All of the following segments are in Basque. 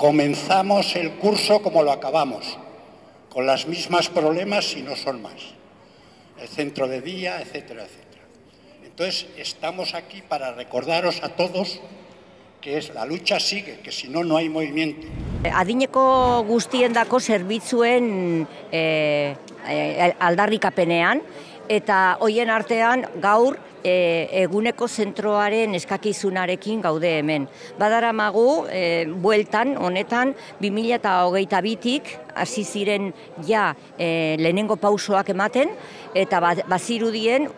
comenzamos el curso como lo acabamos, con los mismos problemas y no son más. El centro de día, etcétera, etcétera. Entonces, estamos aquí para recordaros a todos que la lucha sigue, que si no, no hay movimiento. Adineko guztiendako zerbitzuen aldarrikapenean, eta hoien artean gaur eguneko zentroaren eskakizunarekin gaude hemen. Badaramagu, bueltan, honetan, 2022tik hasi ziren ja lehenengo pausoak ematen, eta bazirudien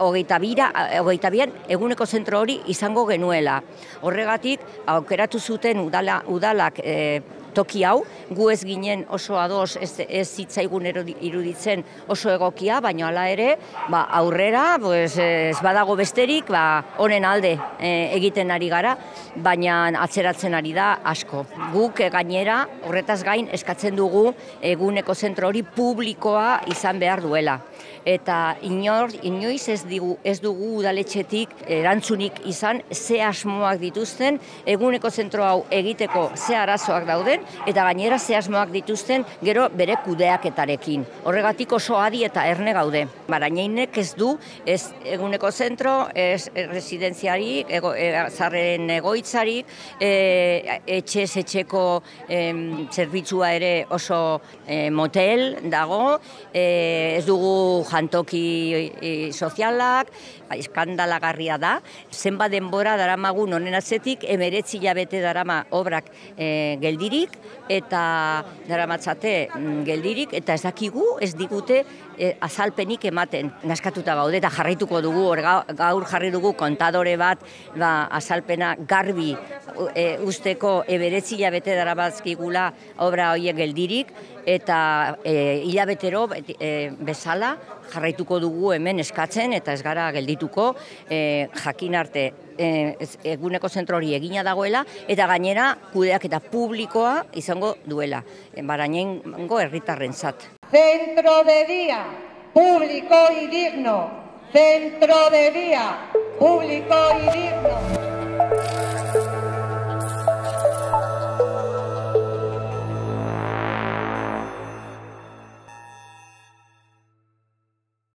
22an eguneko zentro hori izango genuela. Horregatik, aukeratu zuten udalak toki hau, gu ez ginen oso ados, ez zitzaigun iruditzen oso egokia, baina hala ere, aurrera, ez badago besterik, honen alde egiten ari gara, baina atzeratzen ari da asko. Guk gainera, horretaz gain, eskatzen dugu eguneko zentro hori publikoa izan behar duela. Eta inoiz ez dugu udaletxetik erantzunik izan ze asmoak dituzten, eguneko zentro hau egiteko ze arazoak dauden, eta gainera ze asmoak dituzten gero bere kudeaketarekin. Horregatik oso adi eta erne gaude. Barañeinek ez du, ez eguneko zentro, ez residenziarik, zarren egoitzarik, etxez etxeko zerbitzua ere oso motel dago, ez dugu jantoki sozialak, eskandalagarria da. Zenbat denbora daramagun honen atzetik, 19 hilabete darama obrak geldirik, eta daramatzate geldirik, eta ez dakigu, ez digute azalpenik ematen. Naskatuta gaude eta jarraituko dugu, gaur jarri dugu kontadore bat azalpena garbi usteko 19 hilabete daramatzkigula obra horiek geldirik, eta hilabetero bezala jarraituko dugu hemen eskatzen eta ez gara geldituko jakin arte eguneko zentro hori egina dagoela eta gainera kudeaketa publikoa izango duela, Barañaingo herritarrentzat. Centro de día, público y digno. Centro de día, público y digno.